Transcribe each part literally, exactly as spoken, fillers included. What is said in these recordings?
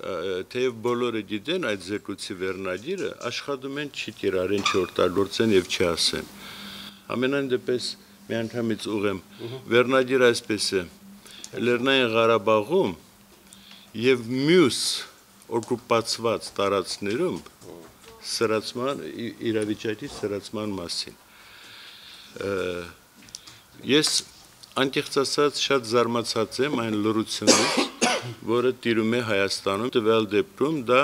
Թեև բոլորը գիտեն այդ զեկույցի վերնագիրը, աշխատում են չի կիրառեն, չօգտագործեն եւ չասեն։ Ամենայն դեպս միանգամից ուղեմ վերնագիրը այսպես է. Լեռնային Ղարաբաղում եւ մյուս օկուպացված տարածքներում սրացման իրավիճակի սրացման մասին։ Ես անկեղծ ասած շատ զարմացած եմ այն լրությունից, որը տիրում է Հայաստանում, տվյալ դեպքում դա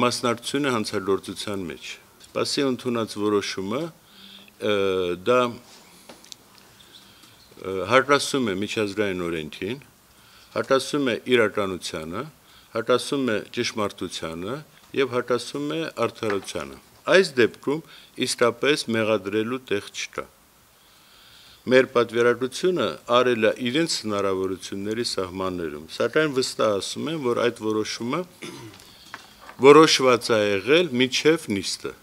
մասնակցություն է հանցագործության մեջ։ Բացի ընդունած որոշումը դա հակասում է միջազգային օրենքին, հակասում է իրականությանը, հակասում է ճշմարտությանը եւ հակասում է արդարությանը։ Այս դեպքում իսկապես մեղադրելու տեղ չկա։ Մեր պատվիրակությունը արել է իրենց հնարավորությունների սահմաններում, սակայն վստահ ասում եմ, որ այդ որոշումը որոշված է եղել միջև նիստը,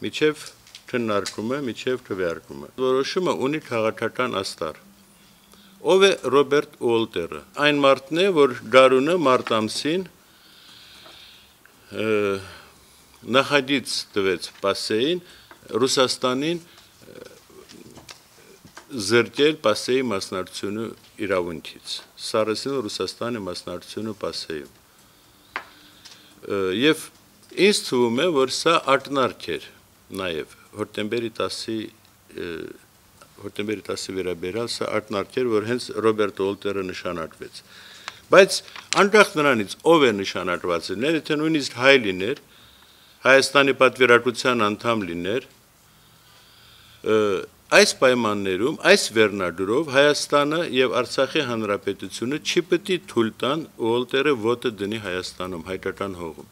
միջև քննարկումը, միջև քվեարկումը։ Որոշումը ունի քաղաքական աստար։ Ով է Ռոբերտ Ուոլտերը։ Այն մարդն է, որ գարունը մարտ ամսին նախագիծ տվեց ՊԱՍԵ-ին Ռուսաստանին զրկել ՊԱՍԵ-ի մասնակցությունը իրավունքից, սառեցնել Ռուսաստանի մասնակցությունը ՊԱՍԵ-ում։ Եվ ինձ թվում է, որ սա ակնարկ էր նաև հոկտեմբերի տասի հոկտեմբերի տասի վերաբերյալ սա ակնարկ էր, որ հենց Ռոբերտ Ուոլտերը նշանակվեց։ Բայց անկախ նրանից ով է նշանակված լիներ, եթե նույնիսկ հայ լիներ, Հայաստանի պատվիրակության անդամ լիներ, այս պայմաններում, այս վերնագրով Հայաստանը եւ Արցախի հանրապետությունը չի պետք է թույլ տան Ուոլտերը ոտը դնի Հայաստանում հայկական հողում։